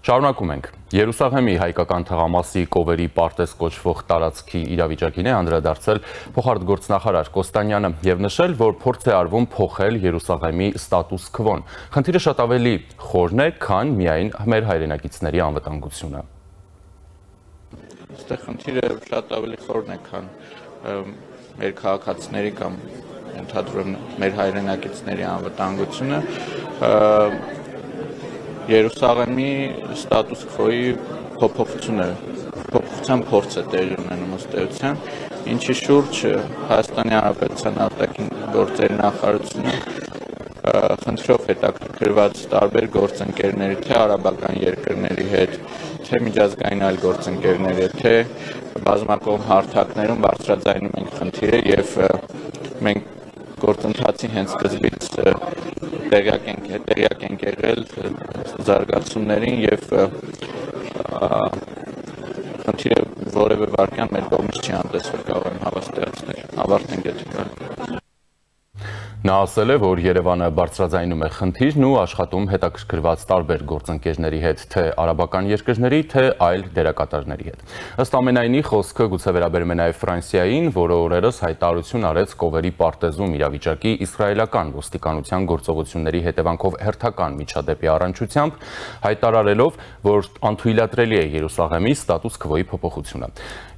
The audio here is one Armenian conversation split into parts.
Շարունակում ենք։ Երուսաղեմի հայկական թաղամասի Կովերի պարտեզ կոչվող տարածքի իրավիճակին է անդրադարձել փոխարտգործնախարար Կոստանյանը եւ նշել, որ փորձ է արվում փոխել Երուսաղեմի ստատուս քվոն։ Խնդիրը շատ ավելի խորն է, քան միայն մեր հայրենակիցների անվտանգությունը։ Այստեղ խնդիրը շատ ավելի խորն է, քան մեր քաղաքացիների կամ ընդհանրապես մեր հայրենակիցների անվտանգությունը։ Երուսաղեմի ստատուս քվոյի փոփոխության փորձ է տեղի ունենում ըստ էության, ինչի շուրջ Հայաստանի Հանրապետության արտաքին գործերի նախարարությունը խնդրով հետաքրքրված տարբեր գործընկերների, թե արաբական երկրների հետ, թե միջազգային այլ գործընկերների հետ, թե բազմակողմ հարթակներում բարձրաձայնում ենք խնդիրը եւ մենք գործընթացի հենց սկզբից տեղյակ ենք եղել զարգացումներին եւ խնդիրը որևէ վարքյան մեր կողմից չի անտեսվել, կարող եմ հավաստիացնել, ավարտենք եթե Նա ասել է, որ Երևանը բարձրաձայնում է խնդիրն ու աշխատում հետաքրքրված տարբեր գործընկերների հետ, թե արաբական երկրների, թե այլ դերակատարների հետ։ Ըստ ամենայնի խոսքը գուցե վերաբերում է նաև Ֆրանսիային, որը օրերս հայտարարություն արեց Կովերի պարտեզում իրավիճակի իսրայելական ոստիկանության գործողությունների հետևանքով հերթական միջադեպի առնչությամբ, հայտարարելով, որ անթույլատրելի է Երուսաղեմի ստատուս քվոյի փոփոխությունը։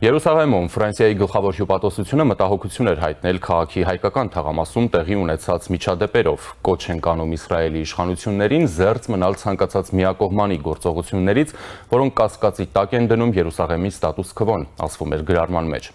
Երուսաղեմում Ֆրանսիայի գլխավոր հյուպատոսությունը մտահոգություն էր հայտնել քաղաքի հայկական թաղամասում տեղի ունեցած միջադեպերով, կոչ են անում Իսրայելի իշխանություններին զերծ մնալ ցանկացած միակողմանի գործողություններից, որոնք կասկածի տակ են դնում Երուսաղեմի ստատուս քվոն, ասվում էր գրառման մեջ։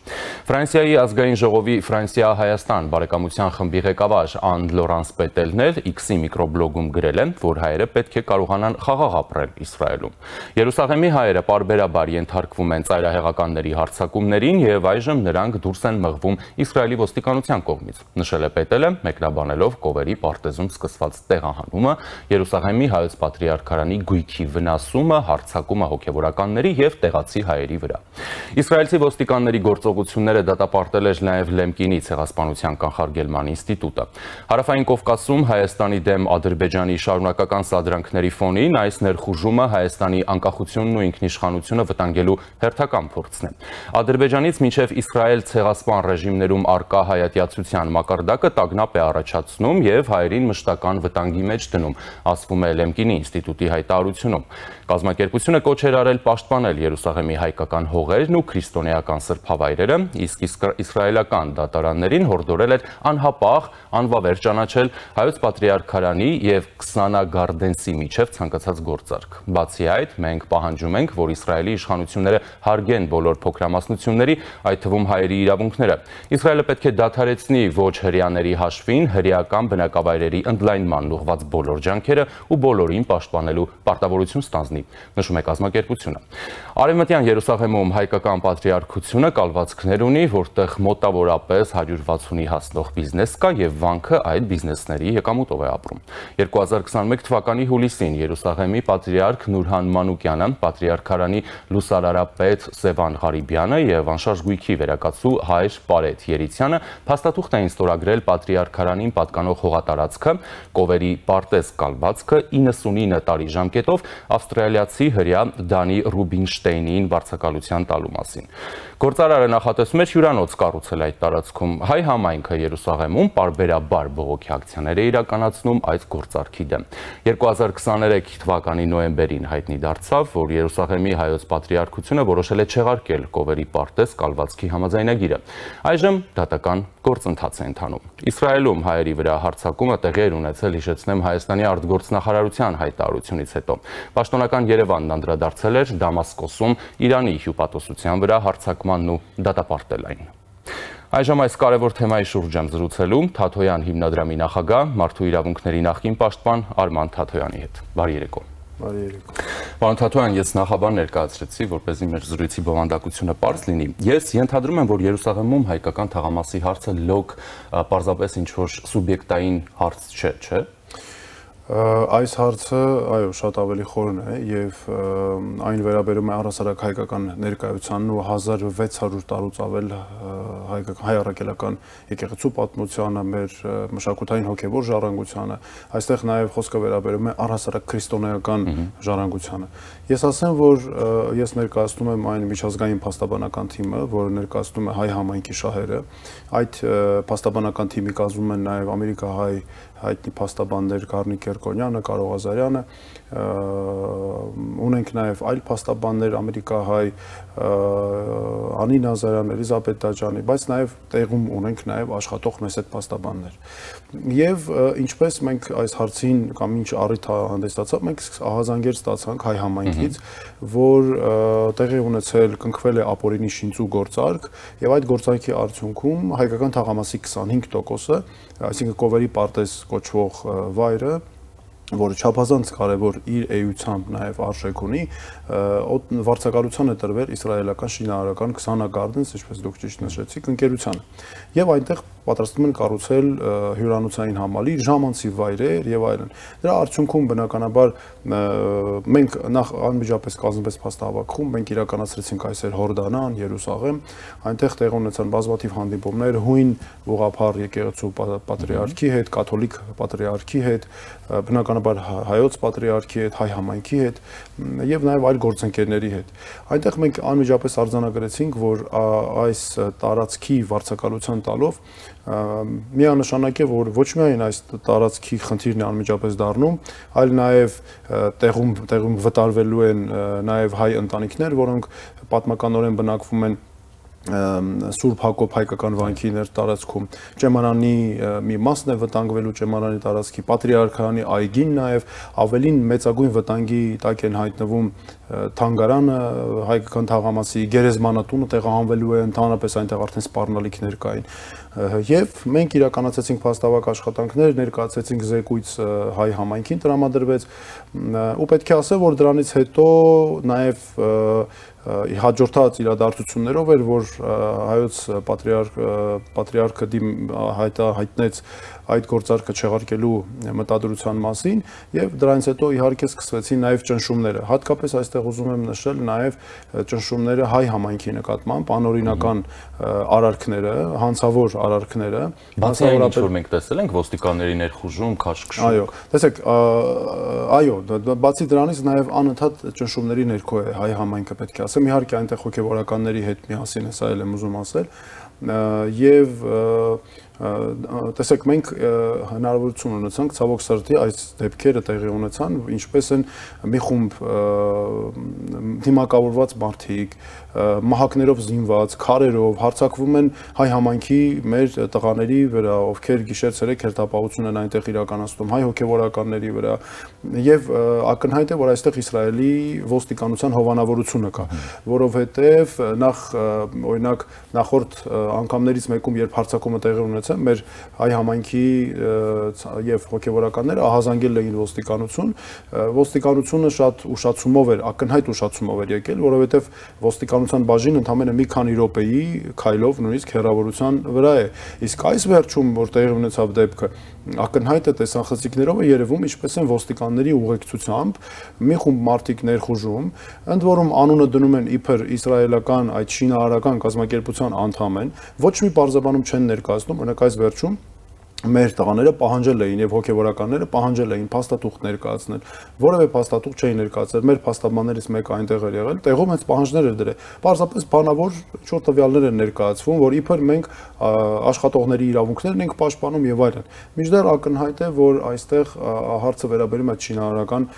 Ֆրանսիայի ազգային ժողովի Ֆրանսիա-Հայաստան բարեկամության խմբի ղեկավար Ան Լորանս Պետելն էլ X-ի միկրոբլոգում գրել է, որ հայերը պետք է կարողանան խաղաղ ապրել Իսրայելում։ Երուսաղեմի հայերը պարբերաբար ենթարկվում են ծայրահեղականների հարձակումներին եւ այժմ նրանք դուրս են մղվում Իսրայելի ոստիկանության կողմից, նշել է Պետելը, մեկնաբանելով Կովերի պարտեզում սկսված տեղահանումը, Երուսաղեմի հայոց պատրիարքարանի գույքի վնասումը, հարձակումը հոգևորականների եւ տեղացի հայերի վրա։ Իսրայելցի ոստիկանների գործողությունները դատապարտել էր նաեւ Լեմկինի ցեղասպանության կանխարգելման ինստիտուտը։ Հարավային Կովկասում Հայաստանի դեմ Ադրբեջանի շարունակական սադրանքների ֆոնին այս ներխուժումը Հայաստանի անկախությունն ու ինքնիշխանությունը վտանգելու հերթական փորձն է։ Ադրբեջանից մինչև Իսրայել ցեղասպան ռեժիմներում արկա հայատյացության մակարդակը տագնապ է առաջացնում եւ հայերին մշտական վտանգի մեջ դնում, ասվում է Լեմկինի ինստիտուտի հայտարարությունում։ Կազմակերպությունը կոչ էր արել պաշտպանել Երուսաղեմի հայկական հողերն ու քրիստոնեական սրբավայրերը, իսկ իսրայելական դատարաններին հորդորել էր անհապաղ, անվավեր ճանաչել հայոց պատրիարքարանի եւ Քսանա Գարդենսի միջև ցանկացած գործարք։ Բացի այդ, մենք պահանջում ենք, որ Իսրայելի իշխանությունները հարգեն բոլոր փոքրամասնությունների, այդ թվում հայերի իրավունքները։ Իսրայելը պետք է դադարեցնի ոչ հրեաների հաշվին հրեական բնակավայրերի ընդլայնմանն ուղղված բոլոր ջանքերը ու բոլորին պաշտպանելու պարտավորություն ստանձնի, նշում է կազմակերպությունը։ Արևմտյան Երուսաղեմում հայկական պատրիարքությունը կալվածքներ ունի, որտեղ մոտավորապես 160-ի հասնող բիզնես կա եւ վանքը այդ բիզնեսների եկամուտով է ապրում։ 2021 թվականի հուլիսին Երուսաղեմի պատրիարք Նուրհան Մանուկյանը, պատրիարքարանի լուսարարապետ Սևան Ղարիբյանը եւ անշարժ գույքի վերակացու հայր Պարետ Երիցյանը փաստաթուղթ էին ստորագրել պատրիարքարանին պատկանող հողատարածքը Կովերի պարտեզ կալվածքը 99 տարի ժամկետով ավստրալիացի հրեա Դանի Ռուբինշտեյնին վարձակալության տալու մասին։ Գործարարը նախատեսում էր հյուրանոց կառուցել այդ տարածքում։ Հայ համայնքը Երուսաղեմում պարբերաբար բողոքի ակցիաներ է իրականացնում այս գործարքի դեմ։ 2023 թվականի նոյեմբերին հայտնի դարձավ, որ Երուսաղեմի հայոց պատրիարքությունը որոշել է չեղարկել Կովերի պարտեզ կալվածքի համաձայնագիրը։ Այժմ դատական գործընթաց է ընթանում։ Իսրայելում հայերի վրա հարձակումը տեղի էր ունեցել, հիշեցնեմ, Հայաստանի արտգործնախարարության հայտարարությունից հետո։ Պաշտոնական Երևանն անդրադարձել էր Դամասկոսում Իրանի հյուպատոսության վրա հարձակմանն ու դատապարտել այն։ Այժմ այս կարևոր թեմայի շուրջ եմ զրուցելու Թաթոյան հիմնադրամի նախագահ, մարդու իրավունքների նախկին պաշտպան Արման Թաթոյանի հետ։ Բարի երեկո։ Բարի երեկո։ Պարոն Թաթոյան, ես նախաբան ներկայացրեցի, որպեսզի մեր զրույցի բովանդակությունը պարզ լինի։ Ես ենթադրում եմ, որ Երուսաղեմում հայկական թաղամասի հարցը լոկ պարզապես ինչ-որ սուբյեկտային հարց չէ, չէ՞։ Այս հարցը, այո, շատ ավելի խորն է եւ այն վերաբերում է առհասարակ հայկական ներկայությանն ու 1600 տարուց ավել հայ առաքելական եկեղեցու պատմությանը, մեր մշակութային հոգեվոր ժառանգությանը, այստեղ նաեւ խոսքը վերաբերում է առհասարակ քրիստոնեական ժառանգությանը։ Ես ասեմ, որ ես ներկայացնում եմ այն միջազգային փաստաբանական թիմը, որը ներկայացնում է հայ համայնքի շահերը։ Այդ փաստաբանական թիմի կազմում են նաեւ ամերիկահայ հայտնի փաստաբաններ Գառնիկ Կերկոնյանը, Կարո Ղազարյանը, ունենք նաև այլ փաստաբաններ ամերիկահայ Անի Նազարյան, Էլիզաբեթ Դաջանի, բայց նաև տեղում ունենք նաև աշխատող մեծ փաստաբաններ։ Եվ ինչպես մենք այս հարցին կամ ինչ առիթ հանդիսացավ, մենք ահազանգեր ստացանք հայ համայնքից, որ տեղի ունեցել կնքվել է ապօրինի շինծու գործարք, եւ այդ գործարքի արդյունքում հայկական թաղամասի 25%-ը, այսինքն Կովերի պարտեզ կոչվող վայրը, որը չափազանց կարևոր իր էությամբ նաև արժեք ունի, վարձակալության է տրվել իսրայելական շինարարական Xana Gardens, ինչպես դուք ճիշտ նշեցիք, ընկերությանը։ Եվ այնտեղ պատրաստվում են կառուցել հյուրանոցային համալիր, ժամանցի վայրեր եւ այլն։ Դրա արդյունքում բնականաբար մենք նախ անմիջապես կազմվեց փաստահավաքում, մենք իրականացրեցինք այսօր Հորդանան, Երուսաղեմ, այնտեղ տեղ ունեցան բազմաթիվ հանդիպումներ հույն ուղղափառ եկեղեցու պատրիարքի հետ, կաթոլիկ պատրիարքի հետ, բնականաբար հայոց պատրիարքի հետ, հայ համայնքի հետ եւ նաեւ այլ գործընկերների հետ։ Այնտեղ մենք անմիջապես արձանագրեցինք, որ այս տարածքի վարձակալության տալով միանշանակ է, որ ոչ միայն այս տարածքի խնդիրն է անմիջապես դառնում, այլ նաև տեղում վտարվելու են նաև հայ ընտանիքներ, որոնք պատմականորեն բնակվում են Սուրբ Հակոբ հայկական վանքի ներտարածքում, Ճեմանանի մի մասն է վտանգվելու Ճեմանանի տարածքի, Պատրիարքանի այգին նաև ավելին մեծագույն վտանգի տակ են հայտնվում Թանգարանը, հայկական թաղամասի գերեզմանատունը տեղահանվելու է, ընդհանրապես այնտեղ արդեն սպառնալիքներ կային։ Եվ մենք իրականացրեցինք փաստավակ աշխատանքներ, ներկայացրեցինք զեկույց հայ համայնքին տրամադրվեց, ու պետք է ասել, որ դրանից հետո նաև հաջորդած իրադարձություններով էր, որ հայոց պատրիարքը հայտնեց այդ գործարքը չեղարկելու մտադրության մասին եւ դրանից հետո իհարկե սկսվեցին նաեւ ճնշումները։ Հատկապես այստեղ ուզում եմ նշել նաեւ ճնշումները հայ համայնքի նկատմամբ, անօրինական արարքները, հանցավոր արարքները, մասնավորապես որ մենք տեսել ենք ոստիկանների ներխուժում, քաշքշում։ Այո, տեսեք, այո, բացի դրանից նաեւ անընդհատ ճնշումների ներքո է հայ համայնքը, պետք է ասեմ, իհարկե այնտեղ հոգեվորականների հետ միասին է, սա էլ եմ ուզում ասել, եւ տեսեք, մենք հնարավորություն ունեցանք ցավոք սրտի այս դեպքերը տեղի ունեցան, ինչպես են մի խումբ դիմակավորված մարդիկ, մահակներով զինված, քարերով հարձակվում են հայ համայնքի մեր տղաների վրա, ովքեր գիշեր-ցերեկ հերթապահություն են այնտեղ իրականացնում, հայ հոգեվորականների վրա, եւ ակնհայտ է, որ այստեղ Իսրայելի ոստիկանության հովանավորությունը կա, որովհետեւ նախ օրինակ նախորդ անգամներից մեկում, երբ հարձակումը տեղի ունեցավ, մեր հայ համայնքի եւ հոգեվորականները ահազանգել էին ոստիկանությունը շատ ուշացումով էր, ակնհայտ ուշացումով էր եկել, որովհետեւ ոստիկանության բաժին ընդամենը մի քանի րոպեի քայլով նույնիսկ հեռավորության վրա է, իսկ այս վերջում, որ տեղի ունեցավ դեպքը, ակնհայտ է տեսախցիկներով է երևում, ինչպես են ոստիկանների ուղեկցությամբ մի խումբ մարդիկ ներխուժում, ընդ որում անունը դնում են իբր իսրայելական այդ շինարարական կազմակերպության անդամ են, ոչ մի բարձաբանում չեն ներկայացնում, օրինակ այս վերջում մեր տղաները պահանջել էին եւ հոգեվորականները պահանջել էին փաստաթուղթ ներկայացնել, որևէ փաստաթուղթ չէին ներկայացրել, մեր փաստաբաններից մեկը այնտեղ էր եղել, տեղում հենց պահանջներ էր դրել, պարզապես բանավոր ինչ-որ տվյալներ են ներկայացվում, որ իբր մենք աշխատողների իրավունքներն ենք պաշտպանում եւ այլն։ Մինչդեռ ակնհայտ է, որ այստեղ հարցը վերաբերում է շինարարական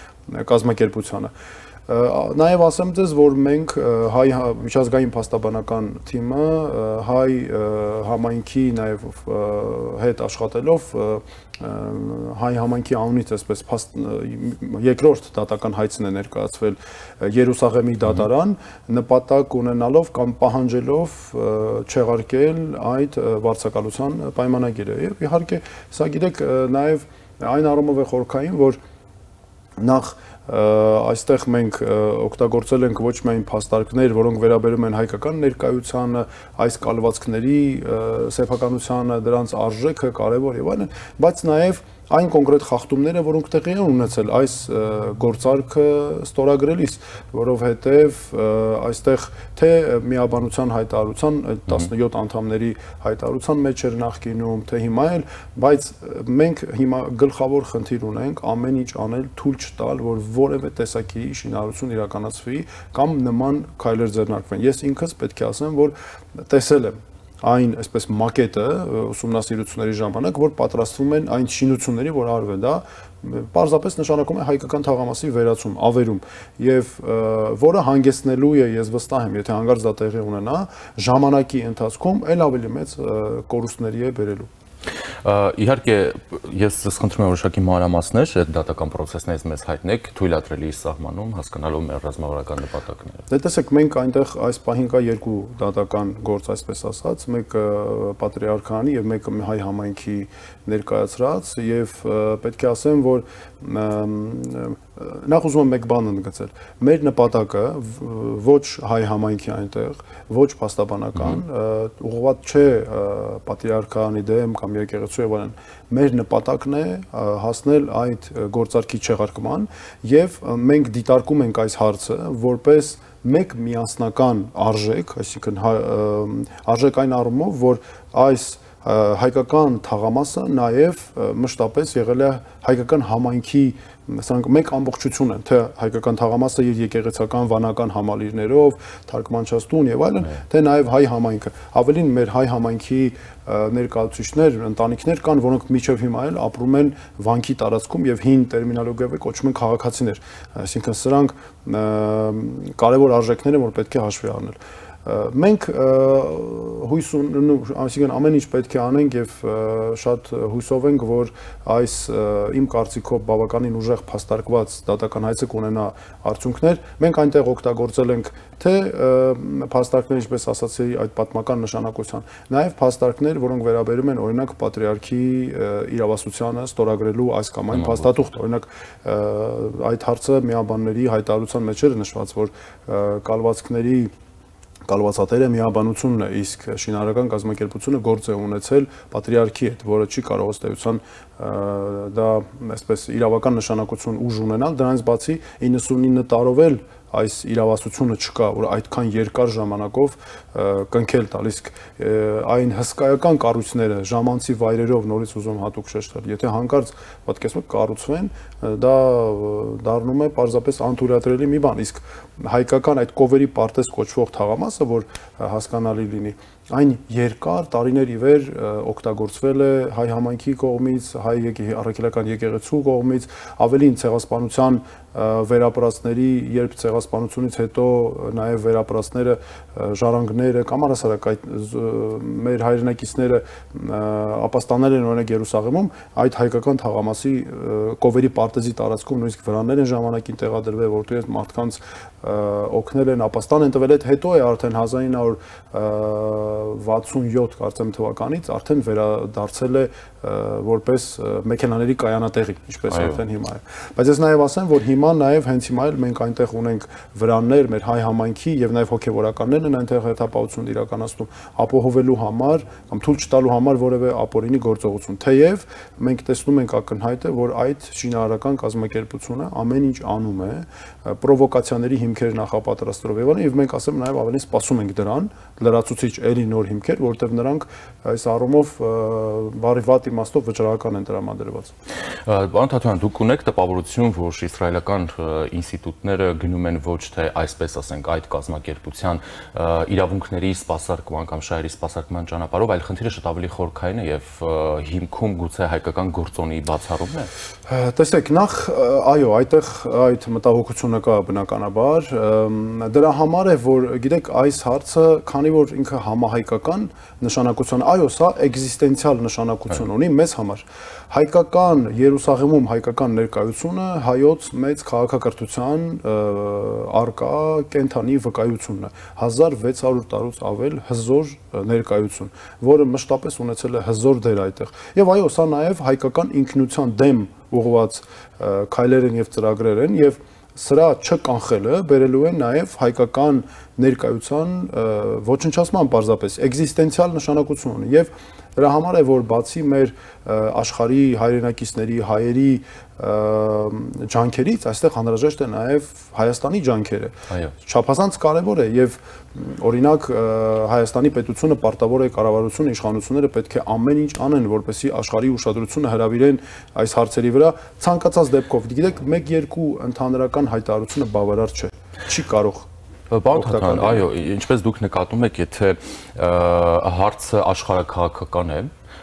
կազմակերպությանը։ Նաև ասեմ ձեզ, որ մենք հայ միջազգային փաստաբանական թիմը հայ համայնքի նաև հետ աշխատելով հայ համայնքի անունից այսպես երկրորդ դատական հայցն է ներկայացվել Երուսաղեմի դատարան, նպատակ ունենալով կամ պահանջելով չեղարկել այդ վարձակալության պայմանագիրը։ Եվ իհարկե, սա գիտեք, նաև այն առումով է խորքային, որ նախ այստեղ մենք օգտագործել ենք ոչ միայն փաստարկներ, որոնք վերաբերում են հայկական ներկայությանը, այս կալվածքների սեփականությանը, դրանց արժեքը կարևոր եւ այլն, բայց նաեւ այն կոնկրետ խախտումները, որոնք տեղի են ունեցել այս գործարքը ստորագրելիս, որովհետև այստեղ թե միաբանության հայտարարության 17 անդամների հայտարարության մեջ էր նախկինում, թե հիմա էլ, բայց մենք հիմա գլխավոր խնդիր ունենք ամեն ինչ անել, թույլ չտալ, որ որևէ տեսակի շինարարություն իրականացվի կամ նման քայլեր ձեռնարկվեն։ Ես ինքս պետք է ասեմ, որ տեսել եմ այն այսպես մակետը ուսումնասիրությունների ժամանակ, որ պատրաստվում են այն շինությունների, որ արվել, դա պարզապես նշանակում է հայկական թաղամասի վերացում, ավերում, եւ որը հանգեցնելու է, ես վստահ եմ, եթե հանկարծ դա տեղի ունենա, ժամանակի ընթացքում ել ավելի մեծ կորուստների է բերելու։ Իհարկե, ես σας խնդրում եմ որոշակի մանրամասներ այդ դատական պրոցեսներից մեզ հայտնեք, թույլատրելի սահմանում, հասկանալով մեր ռազմավարական նպատակները։ Դե տեսեք, մենք այնտեղ այս պահին կա երկու դատական գործ, այսպես ասած, մեկը պատրիարքանի եւ մեկը հայ համայնքի ներկայացրած, եւ պետք է ասեմ, որ նախ ուզում եմ մեկ բան ընդգծել։ Մեր նպատակը ոչ հայ համայնքի այնտեղ, ոչ փաստաբանական, ուղղված չէ պատրիարքանի դեմ կամ եկեղեցու եւ այլն։ Մեր նպատակն է հասնել այդ գործարքի չեղարկման եւ մենք դիտարկում ենք այս հարցը որպես մեկ միասնական արժեք, այսինքն արժեք այն առումով, որ այս հայկական թաղամասը նաև մշտապես եղել է հայկական համայնքի սրանք մեկ ամբողջություն են, թե հայկական թաղամասը իր եկեղեցական վանական համալիրներով, թարգմանչաստուն եւ այլն, թե նաև հայ համայնքը։ Ավելին մեր հայ համայնքի ներկայացուցիչներ, ընտանիքներ կան, որոնք մինչև հիմա էլ ապրում են վանքի տարածքում եւ հին տերմինոլոգիայով կոչվում են քաղաքացիներ։ Այսինքն սրանք կարևոր արժեքներ են, որ պետք է հաշվի առնել։ Մենք հույս այսինքն ամեն ինչ պետք է անենք եւ շատ հույսով ենք, որ այս իմ կարծիքով բավականին ուժեղ փաստարկված դատական հայցը կունենա արդյունքներ։ Մենք այնտեղ օգտագործել ենք թե փաստարկներ, ինչպես ասացի, այդ պատմական նշանակության, նաեւ փաստարկներ, որոնք վերաբերում են օրինակ պատրիարքի իրավասությանը ստորագրելու այս կամ այն փաստաթուղթ, օրինակ այդ հարցը միաբանների հայտարարության մեջ էր նշված, որ կալվածատերը միաբանությունն է, իսկ շինարարական կազմակերպությունը գործ է ունեցել պատրիարքի հետ, որը չի կարող ըստ էության դա այսպես իրավական նշանակություն ուժ ունենալ, դրանից բացի 99 տարով էլ այս իրավասությունը չկա, որ այդքան երկար ժամանակով կնքել տալիս այն հսկայական կառույցները ժամանցի վայրերով նորից ուզում հատուկ շեշտել, եթե հանկարծ պատկերացնեք կառուցվեն, դա դառնում է պարզապես անթույլատրելի մի բան, իսկ հայկական այդ կովերի պարտեզ կոչվող թաղամասը, որ հասկանալի լինի, այն երկար տարիներ ի վեր օգտագործվել է հայ համայնքի կողմից, հայ առաքելական եկեղեցու կողմից, ավելին ցեղասպանության վերապրածների, երբ ցեղասպանությունից հետո նաև վերապրածները, ժառանգները կամ առասարակ այդ մեր հայրենակիցները ապաստանել են օրինակ Երուսաղեմում, այդ հայկական թաղամասի կովերի պարտեզի տարածքում նույնիսկ վրաններ են ժամանակին տեղադրվել, որտեղ մարդկանց օգնել են, ապաստան են տվել, հետո է արդեն 1967 կարծեմ թվականից արդեն վերադարձել է որպես մեքենաների կայանատեղի, ինչպես արդեն հիմա է։ Բայց ես նաև ասեմ, որ հիմա նաև հենց հիմա էլ մենք այնտեղ ունենք վրաններ մեր հայ համայնքի եւ նաև հոգեվորականներն են այնտեղ հետապահություն իրականացնում ապահովելու համար կամ թույլ չտալու համար որևէ ապօրինի գործողություն։ Թեև մենք տեսնում ենք ակնհայտ է, որ այդ շինարարական կազմակերպությունը ամեն ինչ անում է պրովոկացիաների հիմքեր նախապատրաստելով եւ մենք ասեմ նաև ավելի սպասում ենք դրան լրացուցիչ էլի նոր հիմքեր, որտեղ նրանք այս առումով բարի վատ իմաստով վճռական են տրամադրված։ Պարոն Թաթոյան, դուք ունեք տպավորություն, որ իսրայելական ինստիտուտները գնում են ոչ թե այսպես ասենք այդ կազմակերպության իրավունքների սպասարկման կամ շահերի սպասարկման ճանապարհով, այլ խնդիրը շատ ավելի խորքային է եւ հիմքում գուցե հայկական գործոնի բացառումն է։ Տեսեք, նախ այո, այդտեղ այդ մտահոգությունը կա բնականաբար, դրա համար է, որ գիտեք, այս հարցը, քանի որ ինքը համահայկական նշանակություն, այո, սա էգզիստենցիալ նշանակություն ունի մեզ համար։ Հայկական Երուսաղեմում հայկական ներկայությունը հայոց մեծ քաղաքակրթության արկա կենթանի վկայությունն է 1600 տարուց ավել հզոր ներկայություն, որը մշտապես ունեցել է հզոր դեր այդտեղ։ Եվ այո, սա նաև հայկական ինքնության դեմ ուղղված քայլեր են եւ ծրագրեր են եւ սրա չկանխելը բերելու է նաև հայկական ներկայության ոչնչացման պարզապես էգզիստենցիալ նշանակություն ունի եւ դրա համար է որ բացի մեր աշխարհի հայրենակիցների հայերի ջանքերից այստեղ անհրաժեշտ է նաև Հայաստանի ջանքերը։ Չափազանց կարևոր է եւ օրինակ Հայաստանի պետությունը պարտավոր է կառավարությունը իշխանությունները պետք է ամեն ինչ անեն որպեսզի աշխարհի ուշադրությունը հրավիրեն այս հարցերի վրա ցանկացած դեպքով։ Գիտեք, 1-2 ընդհանրական հայտարարությունը բավարար չէ։ Չի կարող Պարոն Թաթարյան, այո, ինչպես դուք նկատում եք, եթե հարցը աշխարհաքաղաքական է,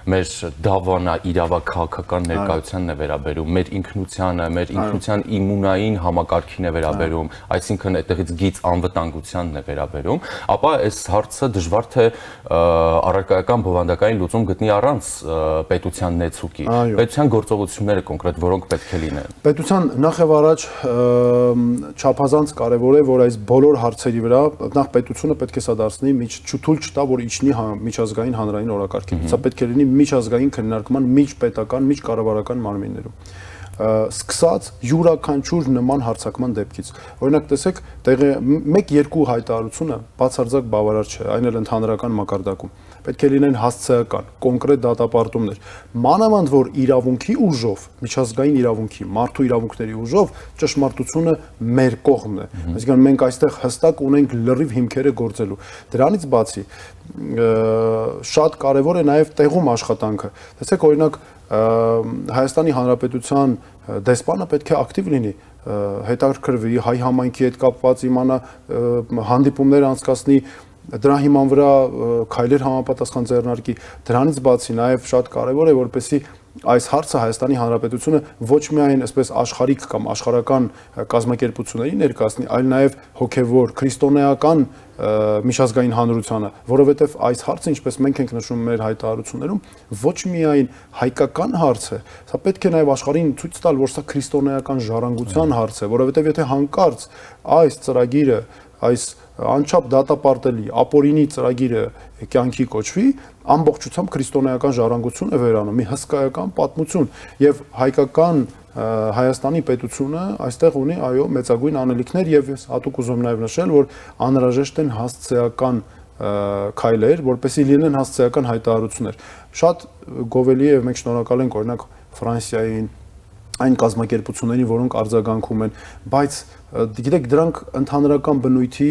մեր դավանա իրավաքաղաքական ներկայությանն է վերաբերում, մեր ինքնությանը, մեր ինքնության իմունային համակարգին է վերաբերում, այսինքն այդտեղից գից անվտանգությանն է վերաբերում, ապա այս հարցը դժվար թե առարկայական բովանդակային լուծում գտնի առանց պետության նեցուկի։ Պետության գործողությունները կոնկրետ որոնք պետք է լինեն։ Պետության նախ եւ առաջ չափազանց կարեւոր է, որ այս բոլոր հարցերի վրա նախ պետությունը պետք է սա դարձնի չթույլ չտա, որ իջնի միջազգային հանրային օրակարգին։ Սա պետք է լինի միջազգային քննարկման միջպետական, միջկառավարական մարմիններում։ Սկսած յուրաքանչյուր նման հարձակման դեպքից։ Օրինակ տեսեք, 1-2 հայտարարությունը բացարձակ բավարար չէ, այն էլ ընդհանրական մակարդակում։ Պետք է լինեն հասցեական, կոնկրետ դատապարտումներ։ Մանավանդ որ իրավունքի ուժով, միջազգային իրավունքի, մարդու իրավունքների ուժով ճշմարտությունը մեր կողմն է։ Այսինքն մենք այստեղ հստակ ունենք լրիվ հիմքերը գործելու։ Դրանից բացի շատ կարևոր է նաև տեղում աշխատանքը։ Տեսեք, օրինակ Հայաստանի Հանրապետության դեսպանը պետք է ակտիվ լինի, հետաքրքրվի հայ համայնքի հետ կապված իմանա, հանդիպումներ անցկացնի, դրա հիման վրա քայլեր համապատասխան ձեռնարկի։ Դրանից բացի նաև շատ կարևոր է, որպեսզի այս հարցը Հայաստանի Հանրապետությունը ոչ միայն այսպես աշխարհիկ կամ աշխարհական կազմակերպությունների ներկայացնի, այլ նաև հոգևոր քրիստոնեական միջազգային հանրությանը, որովհետև այս հարցը, ինչպես մենք ենք նշում մեր հայտարարություններում, ոչ միայն հայկական հարց է, սա պետք է նաև աշխարհին ցույց տալ, որ սա քրիստոնեական ժառանգության հարց է, որովհետև եթե հանկարծ այս ծրագիրը, այս անչափ դատապարտելի ապօրինի ծրագիրը կյանքի կոչվի, ամբողջությամբ քրիստոնեական ժառանգություն է վերանում, մի հսկայական պատմություն եւ հայկական Հայաստանի պետությունը այստեղ ունի այո մեծագույն անելիքներ եւ ես հատուկ ուզում նաեւ նշել, որ անհրաժեշտ են հասցեական քայլեր, որպեսզի լինեն հասցեական հայտարարություններ։ Շատ գովելի է եւ մենք շնորհակալ ենք օրինակ Ֆրանսիային այն կազմակերպություններին, որոնք արձագանքում են, բայց գիտեք, դրանք ընդհանրական բնույթի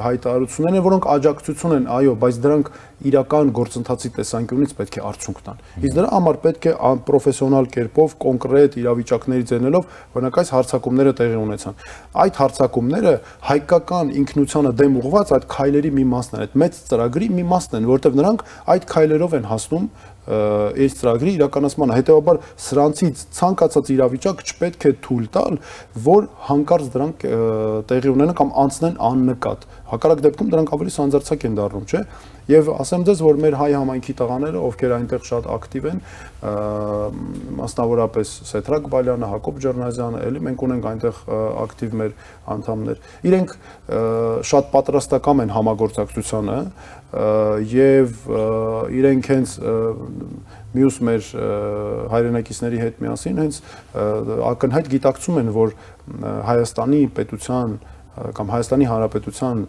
հայտարարություններ են, որոնք աջակցություն են, այո, բայց դրանք իրական գործընթացի տեսանկյունից պետք է արդյունք տան։ Իսկ դրա համար պետք է պրոֆեսիոնալ կերպով, կոնկրետ իրավիճակներից ելնելով, օրինակ այս հարձակումները տեղի ունեցան։ Այդ հարձակումները հայկական ինքնությանը դեմ ուղղված այդ քայլերի մի մասն են, այդ մեծ ծրագրի մի մասն են, որտեղ նրանք այդ քայլերով են հասնում այս ծրագրի իրականացմանը, հետեւաբար սրանցից ցանկացած իրավիճակ չպետք է թույլ տալ, որ հանկարծ դրանք տեղի ունենան կամ անցնեն աննկատ։ Հակառակ դեպքում դրանք ավելի սանձարձակ են դառնում, չէ՞։ Եվ ասեմ ձեզ, որ մեր հայ համայնքի տղաները, ովքեր այնտեղ շատ ակտիվ են, մասնավորապես Սեթրակ Բալյանը, Հակոբ Ջեռնազյանը, էլի մենք ունենք այնտեղ ակտիվ մեր անդամներ։ Իրենք շատ պատրաստակամ են համագործակցությանը եւ իրենք հենց մյուս մեր հայրենակիցների հետ միասին հենց ակնհայտ գիտակցում են, որ Հայաստանի պետության կամ Հայաստանի Հանրապետության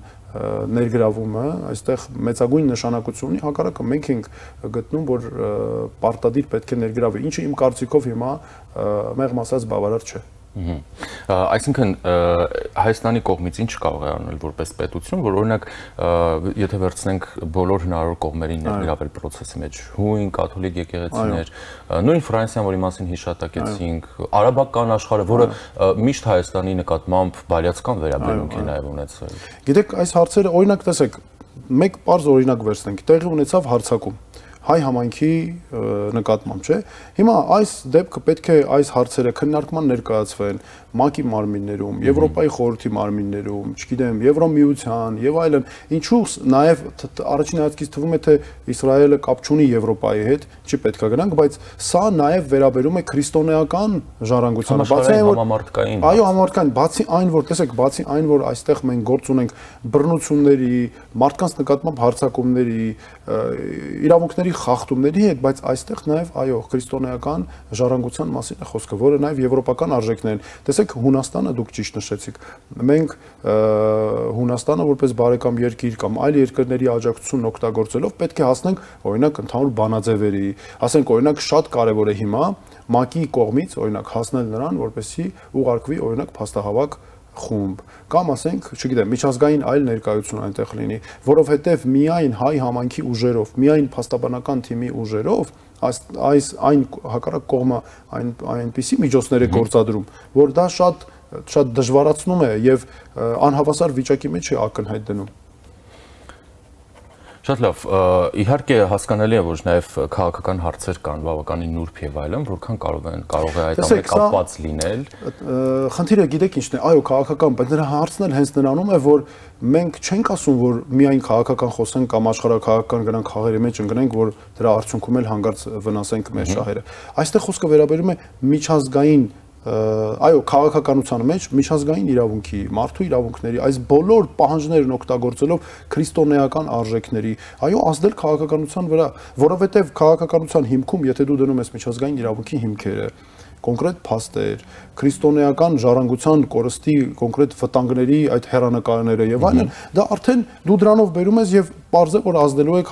ներգրավումը այստեղ մեծագույն նշանակություն ունի, հակառակը մենք ենք գտնում, որ պարտադիր պետք է ներգրավի, ինչը իմ կարծիքով հիմա մեղմ ասած բավարար չէ։ Այսինքն Հայաստանի կողմից ինչ կարող է անել որպես պետություն, որ օրինակ եթե վերցնենք բոլոր հնարավոր կողմերին ներգրավել process-ի մեջ, հույն, կաթոլիկ եկեղեցիներ, նույն Ֆրանսիան, որի մասին հիշատակեցինք, արաբական աշխարհը, որը միշտ Հայաստանի նկատմամբ բարյացկան վերաբերմունք է նաև ունեցել։ Գիտեք, այս հարցերը օրինակ տեսեք, մեկ պարզ օրինակ վերցնենք, տեղի ունեցավ հարձակում հայ համայնքի նկատմամբ, չէ։ Հիմա այս դեպքը պետք է այս հարցերը քննարկման ներկայացվեն ՄԱԿ-ի մարմիններում, Եվրոպայի խորհրդի մարմիններում, չգիտեմ, Եվրոմիության եւ այլն։ Ինչու նաեւ առաջին հայացքից թվում է, թե Իսրայելը կապ չունի Եվրոպայի հետ, չի պետքա գնանք, բայց սա նաեւ վերաբերում է քրիստոնեական ժառանգությանը, բացի այն, որ համամարտկային։ Այո, համամարտկային, բացի այն, որ տեսեք, բացի այն, որ այստեղ մենք գործ ունենք բռնությունների, մարդկանց նկատմամբ հարձակումների, իրավունքների խախտումների հետ, բայց այստեղ նաև այո, քրիստոնեական ժառանգության մասին է խոսքը, որը նաև եվրոպական արժեքներ են։ Տեսեք, Հունաստանը դուք ճիշտ նշեցիք։ Մենք Հունաստանը որպես բարեկամ երկիր կամ այլ երկրների աջակցությունն օգտագործելով պետք է հասնենք օրինակ ընդհանուր բանաձևերի, ասենք օրինակ շատ կարևոր է հիմա ՄԱԿ-ի կողմից օրինակ հասնել նրան, որպեսզի ուղարկվի օրինակ փաստահավաք խումբ կամ ասենք, չգիտեմ, միջազգային այլ ներկայություն այնտեղ լինի, որովհետև միայն հայ համայնքի ուժերով, միայն փաստաբանական թիմի ուժերով այս այն հակառակ կողմը այնպիսի միջոցներ է գործադրում, որ դա շատ դժվարացնում է եւ անհավասար վիճակի մեջ է ակնհայտ դնում։ Շատ լավ, իհարկե հասկանալի է, որ նաև քաղաքական հարցեր կան, բավականին նուրբ եւ այլն, որքան կարող է այդ ամենը կապված լինել։ Խնդիրը գիտեք ինչն է, այո, քաղաքական, բայց նրա հարցն էլ հենց նրանում է, որ մենք չենք ասում, որ միայն քաղաքական խոսենք կամ աշխարհաքաղաքական գնանք խաղերի մեջ ընկնենք, որ դրա արդյունքում էլ հանգարց վնասենք մեր շահերը։ Այստեղ խոսքը վերաբերում է միջազգային այո, քաղաքականության մեջ միջազգային իրավունքի, մարդու իրավունքների, այս բոլոր պահանջներն օգտագործելով քրիստոնեական արժեքների, այո, ազդել քաղաքականության վրա, որովհետև քաղաքականության հիմքում, եթե դու դնում ես միջազգային իրավունքի հիմքերը, կոնկրետ փաստեր, քրիստոնեական ժառանգության կորստի կոնկրետ վտանգների այդ հեռանկարները եւ այլն, դա արդեն դու դրանով բերում ես եւ պարզ է, որ ազդելու է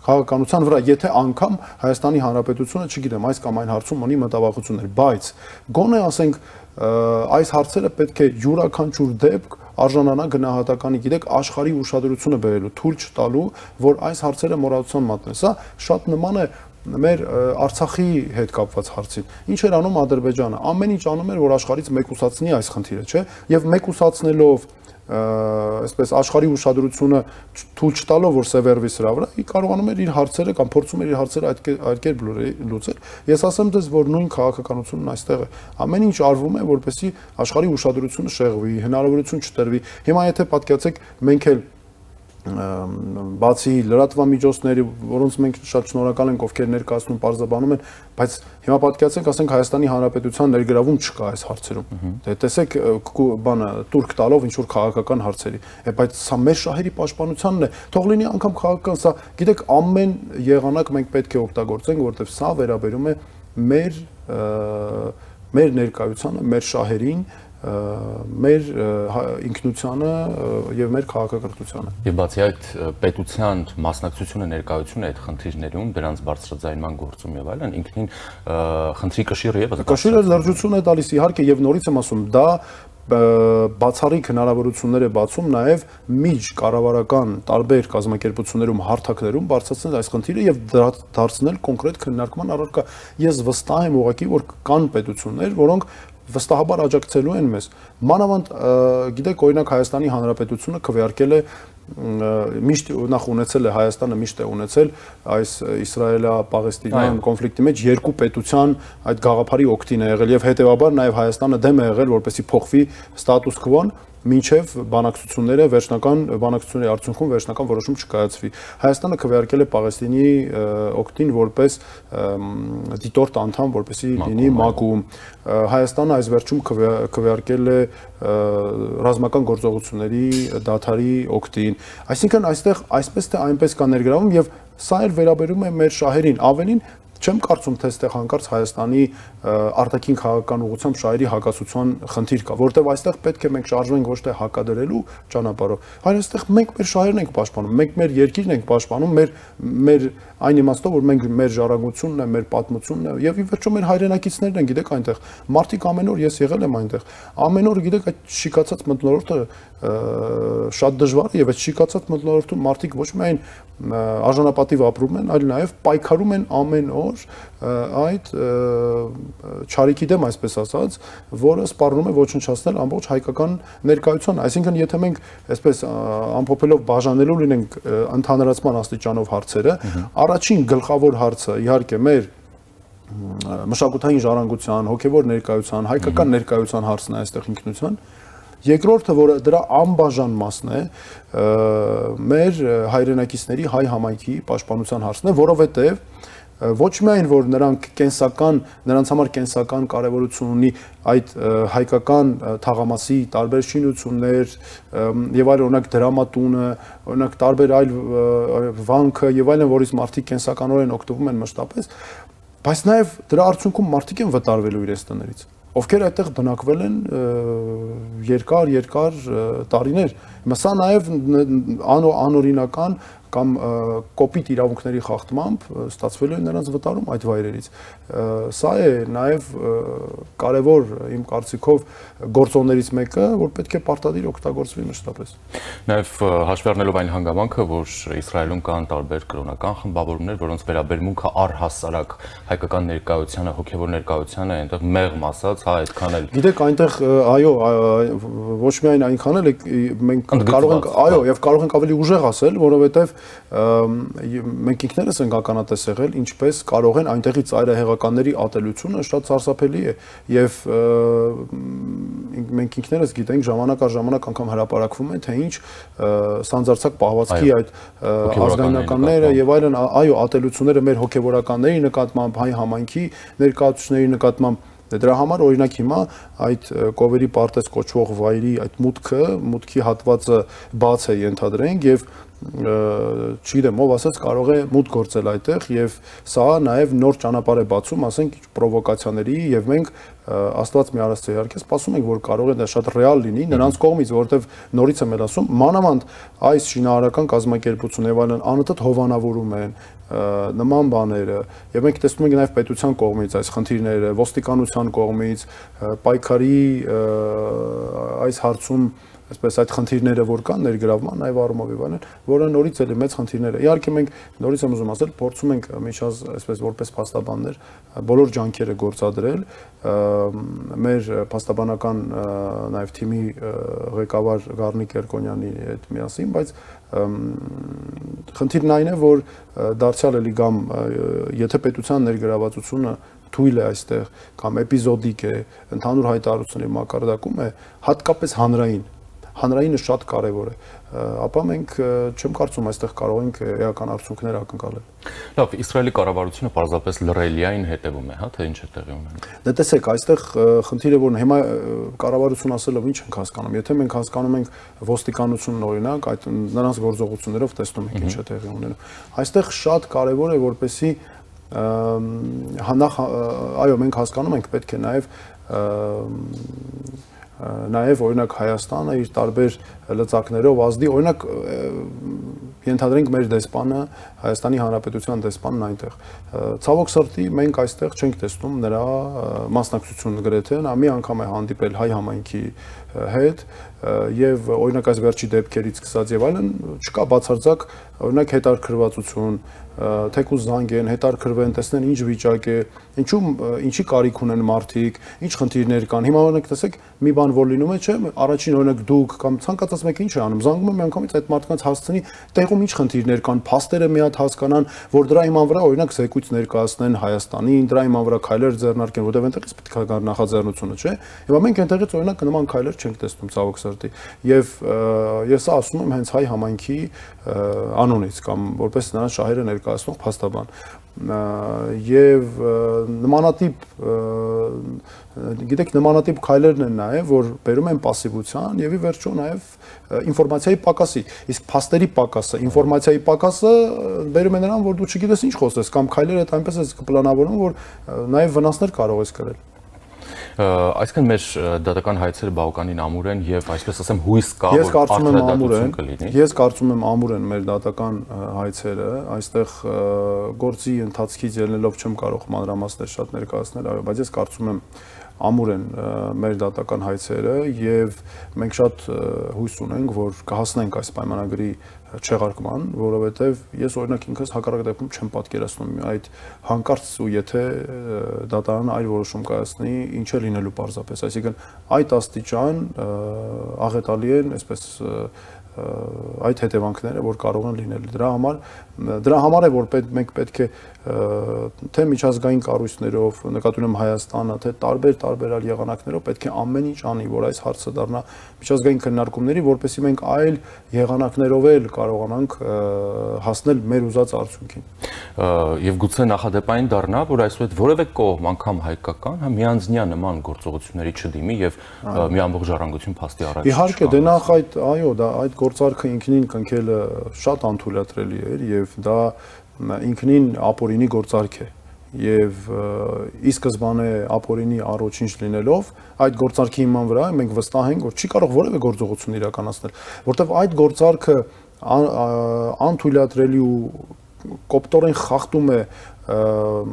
քաղաքականության վրա, եթե անգամ Հայաստանի Հանրապետությունը, չգիտեմ, այս կամ այն հարցում ունի մտավախություններ, բայց գոնե ասենք այս հարցերը պետք է յուրաքանչյուր դեպք արժանանա գնահատականի, գիտեք, աշխարհի ուշադրությունը բերելու, թույլ չտալու, որ այս հարցերը մոռացության մատնեն։ Սա շատ նման է մեր Արցախի հետ կապված հարցին։ Ինչ էր անում Ադրբեջանը։ Ամեն ինչ անում էր, որ աշխարհից մեկուսացնի այս խնդիրը, չէ՞։ Եվ մեկուսացնելով այսպես աշխարհի ուշադրությունը թույլ չտալով, որ սևեռվի սրա վրա, ի կարողանում էր իր հարցերը կամ փորձում էր իր հարցերը այդ կերպ լուծել։ Ես ասեմ դες, որ նույն քաղաքականությունն այստեղ է։ Ամեն ինչ արվում է, որպեսզի աշխարհի ուշադրությունը շեղվի, հնարավորություն չտրվի։ Հիմա եթե պատկերացեք, մենք էլ բացի լրատվամիջոցների, որոնց մենք շատ շնորհակալ ենք, ովքեր ներկայացնում, պարզաբանում են, բայց հիմա պատկերացենք, ասենք Հայաստանի Հանրապետության ներգրավում չկա այս հարցերում։ Դե տեսեք, բանը տուրք տալով ինչ որ քաղաքական հարցերի, բայց սա մեր շահերի պաշտպանությանն է։ Թող լինի անգամ քաղաքական, սա, գիտեք, ամեն եղանակ մենք պետք է օգտագործենք, որովհետև սա վերաբերում է մեր ներկայությանը, մեր շահերին, մեր ինքնությանը եւ մեր քաղաքակրթությանը։ Եվ բացի այդ պետության մասնակցությունը ներկայությունը այդ խնդիրներում, դրանց բարձրաձայնման գործում եւ այլն, ինքնին խնդրի կշիռ եւս կշիռը լրջություն է տալիս, իհարկե, եւ նորից եմ ասում, դա բացառիկ հնարավորություններ է բացում նաև միջ կառավարական տարբեր կազմակերպություններում, հարթակներում բարձրացնել այս խնդիրը եւ դարձնել կոնկրետ քննարկման առարկա։ Ես վստահ եմ ուղղակի, որ կան պետություններ, որոնք վստահաբար աջակցելու են մեզ։ Մանավանդ, գիտեք, օրինակ Հայաստանի Հանրապետությունը քվեարկել է միշտ նախ ունեցել է Հայաստանը միշտ է ունեցել այս Իսրայելա-Պաղեստինյան կոնֆլիկտի մեջ երկու պետության այդ գաղափարի օգտին է եղել եւ հետեւաբար նաեւ Հայաստանը դեմ է եղել, որպեսզի փոխվի ստատուս քվոն մինչև բանակցությունների արդյունքում վերջնական որոշում չկայացվի։ Հայաստանը քվեարկել է Պաղեստինի օգտին որպես դիտորդ անդամ, որպեսզի լինի ՄԱԿ-ում։ Հայաստանը այս վերջում քվեարկել է ռազմական գործողությունների դադարի օգտին։ Այսինքն այստեղ այսպես թե այնպես կա ներգրավում եւ սա էլ վերաբերում է մեր շահերին, ավելին չեմ կարծում, թե այստեղ հանկարծ Հայաստանի արտաքին քաղաքական ուղղությամբ շահերի հակասության խնդիր կա, որովհետև այստեղ պետք է մենք շարժվենք ոչ թե հակադրելու ճանապարհով, այլ այստեղ մենք մեր շահերն ենք պաշտպանում, մենք մեր երկիրն ենք պաշտպանում, մեր այն իմաստով, որ մենք մեր ժառանգությունն է, մեր պատմությունն է եւ ի վերջո մեր հայրենակիցներն են, գիտեք, այնտեղ մարդիկ ամեն օր ես եղել եմ այնտեղ, ամեն օր գիտեք այդ շիկացած մթնոլորտը շատ դժվար է եւ այդ շիկացած մթնոլորտում մարդիկ ոչ միայն արժանապատիվ ապրում են, այլ նաեւ պայքարում են ամեն օր այդ չարիքի դեմ, այսպես ասած, որը սպառնում է ոչնչացնել ամբողջ հայկական ներկայությանը։ Այսինքն, եթե մենք այսպես ամփոփելով բաժանելու լինենք ընդհանրացման աստիճանով հարցերը, առաջին գլխավոր հարցը իհարկե մեր մշակութային ժառանգության, հոգևոր ներկայության, հայկական ներկայության հարցն է այստեղ ինքնության։ Երկրորդը, որը դրա անբաժան մասն է, մեր հայրենակիցների հայ համայնքի պաշտպանության հարցն է, որովհետև ոչ միայն որ նրանց համար կենսական կարևորություն ունի այդ հայկական թաղամասի տարբեր շինություններ եւ այլ, օրինակ դրամատունը, օրինակ տարբեր այլ վանքը եւ այլն, որից մարդիկ կենսականորեն օգտվում են մշտապես, բայց նաեւ դրա արդյունքում մարդիկ են վտարվելու իրենց տներից, ովքեր այդտեղ բնակվել են երկար տարիներ։ Սա նաև անօրինական կամ կոպիտ իրավունքների խախտմամբ ստացվել է նրանց վտարում այդ վայրերից։ Սա է նաև կարևոր իմ կարծիքով գործոններից մեկը, որ պետք է պարտադիր օգտագործվի մշտապես։ Նաև հաշվի առնելով այն հանգամանքը, որ Իսրայելում կան տարբեր կրոնական խմբավորումներ, որոնց վերաբերմունքը առհասարակ հայկական ներկայությանը, հոգևոր ներկայությանը այնտեղ մեղմ ասած, հա, այդքան էլ։ Գիտեք, այնտեղ այո, ոչ միայն այնքան էլ մենք կարող ենք, այո, եւ կարող ենք ավելի ուժեղ ասել, որովհետեւ մենք ինքներս ենք ականատես եղել, ինչպես կարող են այնտեղի ծայրահեղականների ատելությունը շատ սարսափելի է եւ մենք ինքներս գիտենք ժամանակ առ ժամանակ անգամ հրապարակվում են, թե ինչ սանձարցակ պահվածքի այդ ազգայնականները եւ այլն, այո, ատելությունները մեր հոգեվորականների նկատմամբ, հայ համայնքի ներկայացուցիչների նկատմամբ։ Դրա համար օրինակ հիմա այդ Կովերի պարտեզ կոչվող վայրի այդ մուտքի հատվածը բաց է ենթադրենք եւ չգիտեմ, ով ասաց կարող է մուտք գործել այդտեղ եւ սա նաեւ նոր ճանապարհ է բացում, ասենք պրովոկացիաների եւ մենք Աստված մի արածը իհարկե սպասում ենք, որ կարող է դա շատ ռեալ լինի նրանց կողմից, որովհետեւ նորից եմ ասում, մանավանդ այս շինարարական կազմակերպությունը եւ այլն անընդհատ հովանավորում են նման բաները եւ մենք տեսնում ենք նաեւ պետության կողմից այս խնդիրները, ոստիկանության կողմից, պայքարի այս հարցում այսպես այդ խնդիրները որ կան ներգրավման նաև առումով եւ այլն, որը նորից էլի մեծ խնդիրներ է։ Իհարկե մենք նորից եմ ուզում ասել, փորձում ենք միջած այսպես որպես փաստաբաններ բոլոր ջանքերը գործադրել մեր փաստաբանական նաև թիմի ղեկավար Գառնիկ Երկոնյանի հետ միասին, բայց խնդիրն այն է, որ դարձյալ էլի կամ եթե պետության ներգրավվածությունը թույլ է այստեղ կամ էպիզոդիկ է, ընդհանուր հայտարարությունների մակարդակում է, հատկապես հանրայինը շատ կարևոր է, ապա մենք չեմ կարծում այստեղ կարող ենք էական արդյունքներ ակնկալել։ Լավ, Իսրայելի կառավարությունը պարզապես լռելիային հետևում է, հա, թե ինչ է տեղի ունենում։ Դե տեսեք, այստեղ խնդիրը որ հիմա կառավարություն ասելով ինչ ենք հասկանում, եթե մենք հասկանում ենք ոստիկանությունն օրինակ, այդ նրանց գործողություններով տեսնում ենք ինչ է տեղի ունենում։ Այստեղ շատ կարևոր է որպեսզի այո, մենք հասկանում ենք, պետք է նաև օրինակ Հայաստանը իր տարբեր լծակներով ազդի, օրինակ ենթադրենք մեր դեսպանը, Հայաստանի Հանրապետության դեսպանն այնտեղ։ Ցավոք սրտի մենք այստեղ չենք տեսնում նրա մասնակցությունը գրեթե, նա մի անգամ է հանդիպել հայ համայնքի հետ եւ օրինակ այս վերջի դեպքերից սկսած եւ այլն չկա բացարձակ օրինակ հետարքրվածություն, թեկուզ զանգ են, հետարքրվեն, տեսնեն ինչ վիճակ է, ինչի կարիք ունեն մարդիկ, ինչ խնդիրներ կան։ Հիմա օրինակ տեսեք, մի բան որ լինում է, չէ՞, առաջին օրինակ դուք կամ ցանկացած մեկը ինչ է անում, զանգում է միանգամից այդ մարդկանց հասցնի, տեղում ինչ խնդիրներ կան, փաստերը մի հատ հասկանան, որ դրա իման վրա օրինակ զեկույց ներկայացնեն Հայաստանին, դրա իման վրա քայլեր ձեռնարկեն, որտեղ այնտեղից պետք է գար նախաձեռնությունը, չէ՞։ Հիմա մենք այնտեղից օրինակ նման քայլեր չենք տեսնում ցավոք սրտի։ Եվ ես ասում եմ հենց հայ համայնքի անունից կամ որպես նրանց շահերը ներկայացնող փաստաբան եւ նմանատիպ գիտեք նմանատիպ քայլերն են նաեւ որ բերում են пассивության եւ ի վերջո նաեւ ինֆորմացիայի պակասի իսկ փաստերի պակասը ինֆորմացիայի պակասը բերում է նրան որ դու չգիտես ինչ խոսես կամ քայլերը այնպես ես կպլանավորում որ նաեւ վնասներ կարող ես կրել Այսինքն մեր դատական հայցերը բավականին ամուր են եւ այսպես ասեմ հույս կա որ արդյունավետություն կլինի։ Ես կարծում եմ ամուր են մեր դատական հայցերը, այստեղ գործի ընթացքից ելնելով չեմ կարող մանրամասներ շատ ներկայացնել, այո, բայց ես կարծում եմ ամուր են մեր դատական հայցերը եւ մենք շատ հույս ունենք որ կհասնենք այս պայմանագրի չեղարկման, որովհետև ես օրինակ ինքս հակառակ դեպքում չեմ պատկերացնում այդ հանկարծ ու եթե դատարանը այլ որոշում կայացնի, ինչ է լինելու պարզապես, այսինքն այդ աստիճան աղետալի են, այսպես այդ հետևանքները, որ կարող են լինել։ Դրա համար է որ մենք պետք է թե միջազգային կառույցներով, նկատի ունեմ Հայաստանը, թե տարբեր եղանակներով պետք է ամեն ինչ անի, որ այս հարցը դառնա միջազգային քննարկումների, որպեսզի մենք այլ եղանակներով էլ կարողանանք հասնել մեր ուզած արդյունքին։ Եվ գուցե նախադեպային դառնա, որ այսուհետ որևէ կողմ, անգամ հայկական, միանձնյա նման գործողությունների չդիմի եւ մի ամբողջ ժառանգություն փաստի առաջ։ Իհարկե, դե նախ այդ գործարքը ինքնին կնքելը շատ անթույլատրելի էր եւ դա ինքնին ապօրինի գործարք է եւ ի սկզբանե ապօրինի առոչինչ լինելով այդ գործարքի հիման վրա մենք վստահ ենք որ չի կարող որևէ գործողություն իրականացնել որտեվ այդ գործարքը անթույլատրելի ու կոպտորեն խախտում է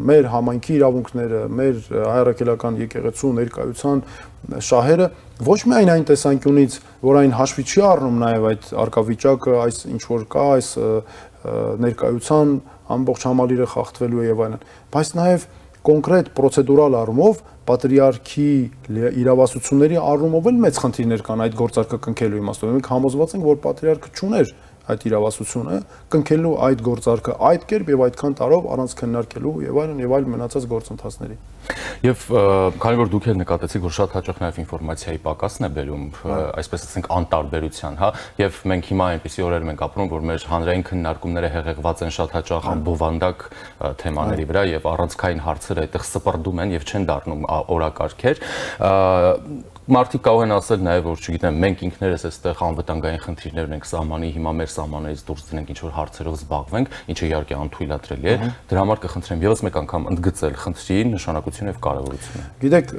մեր համայնքի իրավունքները, մեր հայրաքելական եկեղեցու ներկայության շահերը ոչ միայն այն տեսանկյունից, որ այն հաշվի չի առնում նաև այդ արկավիճակը, այս ինչ որ կա, այս ներկայության ամբողջ համալիրը խախտվելու է եւ այլն, բայց նաև կոնկրետ պրոցեդուրալ առումով պատրիարքի իրավասությունների առումով էլ մեծ խնդիրներ կան այդ գործարքը կնքելու իմաստով։ Մենք համոզված ենք, որ պատրիարքը չուներ այդ իրավասությունը կնքելու այդ գործարքը այդ կերպ եւ այդքան տարով առանց քննարկելու եւ այլ մնացած գործընթացների։ Եվ քանի որ դուք էլ նկատեցիք, որ շատ հաճախ նաև ինֆորմացիայի պակասն է բերում, այսպես ասենք անտարբերության, հա, եւ մենք հիմա այնպիսի օրեր ենք ապրում, որ մեր հանրային քննարկումները հեղեղված են շատ հաճախ անբովանդակ թեմաների վրա եւ առանցքային հարցերը այդտեղ սպրդում են եւ չեն դառնում օրակարգեր։ Մարդիկ կարող են ասել նաև, որ չգիտեմ, մենք ինքներս այստեղ անվտանգային խնդիրներ ունենք սահմանի, հիմա մեր սահմաններից դուրս դնենք ինչ-որ հարցերով զբաղվենք, ինչը իհարկե անթույլատրելի է։ Դրա համար կխնդրեմ ևս մեկ անգամ ընդգծել խնդրի նշանակությունը եւ կարևորությունը։ Գիտեք,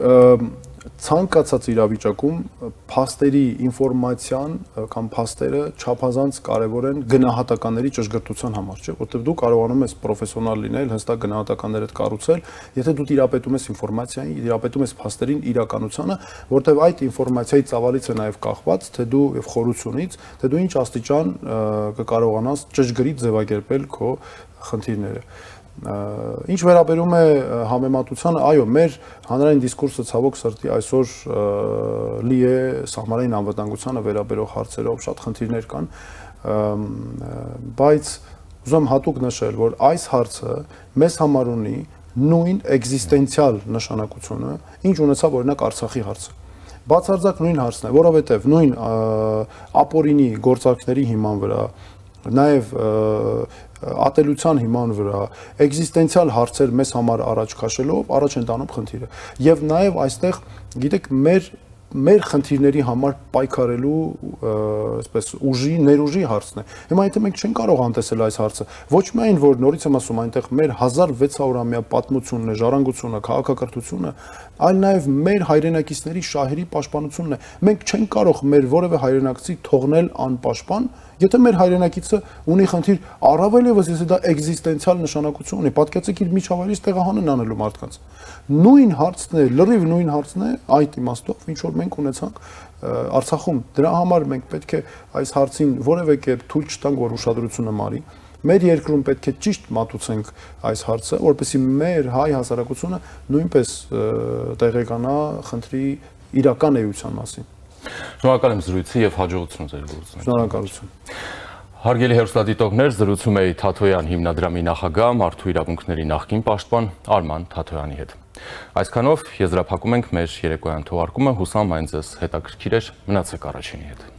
ցանկացած իրավիճակում փաստերի ինֆորմացիան կամ փաստերը չափազանց կարևոր են գնահատականների ճշգրտության համար, չէ՞, որտեղ դու կարողանում ես պրոֆեսիոնալ լինել, հստակ գնահատականներդ կառուցել, եթե դու տիրապետում ես ինֆորմացիային, տիրապետում ես փաստերին, իրականությանը, որտեղ այդ ինֆորմացիայի ծավալից է նաև կախված, թե դու եւ խորությունից, թե դու ինչ աստիճան կկարողանաս ճշգրիտ ձևակերպել քո խնդիրները։ Ինչ վերաբերում է համեմատությանը, այո, մեր հանրային դիսկուրսը ցավոք սրտի այսօր լի է սահմանային անվտանգությանը վերաբերող հարցերով, շատ խնդիրներ կան, բայց ուզում հատուկ նշել, որ այս հարցը մեզ համար ունի նույն էգզիստենցիալ նշանակությունը, ինչ ունեցավ օրինակ Արցախի հարցը։ Բացարձակ նույն հարցն է, որովհետև նույն ապօրինի գործարքների հիման վրա, նաև ատելության հիման վրա էգզիստենցիալ հարցեր մեզ համար առաջ քաշելով առաջ են տանում խնդիրը եւ նաեւ այստեղ գիտեք մեր խնդիրների համար պայքարելու այսպես ուժի ներուժի հարցն է հիմա եթե մենք չենք կարող անտեսել այս հարցը ոչ միայն որ նորից եմ ասում այնտեղ մեր 1600-ամյա պատմությունն է ժառանգությունը քաղաքակրթությունը այլ նաեւ մեր հայրենակիցների շահերի պաշտպանությունն է մենք չենք կարող մեր որևէ հայրենակցի թողնել անպաշտպան Եթե մեր հայրենակիցը ունի խնդիր, առավել եւս եթե դա էգզիստենցիալ նշանակություն ունի, պատկերացրեք իր միջավայրից տեղահանեն անելու մարդկանց։ Նույն հարցն է, լրիվ նույն հարցն է այդ իմաստով, ինչ որ մենք ունեցանք Արցախում։ Դրա համար մենք պետք է այս հարցին որևէ կերպ թույլ չտանք, որ ուշադրությունը մարի։ Մեր երկրում պետք է ճիշտ մատուցենք այս հարցը, որպեսզի մեր հայ հասարակությունը նույնպես տեղեկանա խնդրի իրական էության մասին։ Շնորհակալ եմ զրույցի եւ հաջողություն ձեր գործունեությանը։ Շնորհակալություն։ Հարգելի հեռուստադիտողներ, զրուցում էի Թաթոյան հիմնադրամի նախագահ, մարդու իրավունքների նախկին պաշտպան Արման Թաթոյանի հետ։ Այսքանով եզրափակում ենք մեր երեկոյան թողարկումը, հուսամ այն ձեզ հետաքրքիր էր, մնացեք Առաջինի հետ։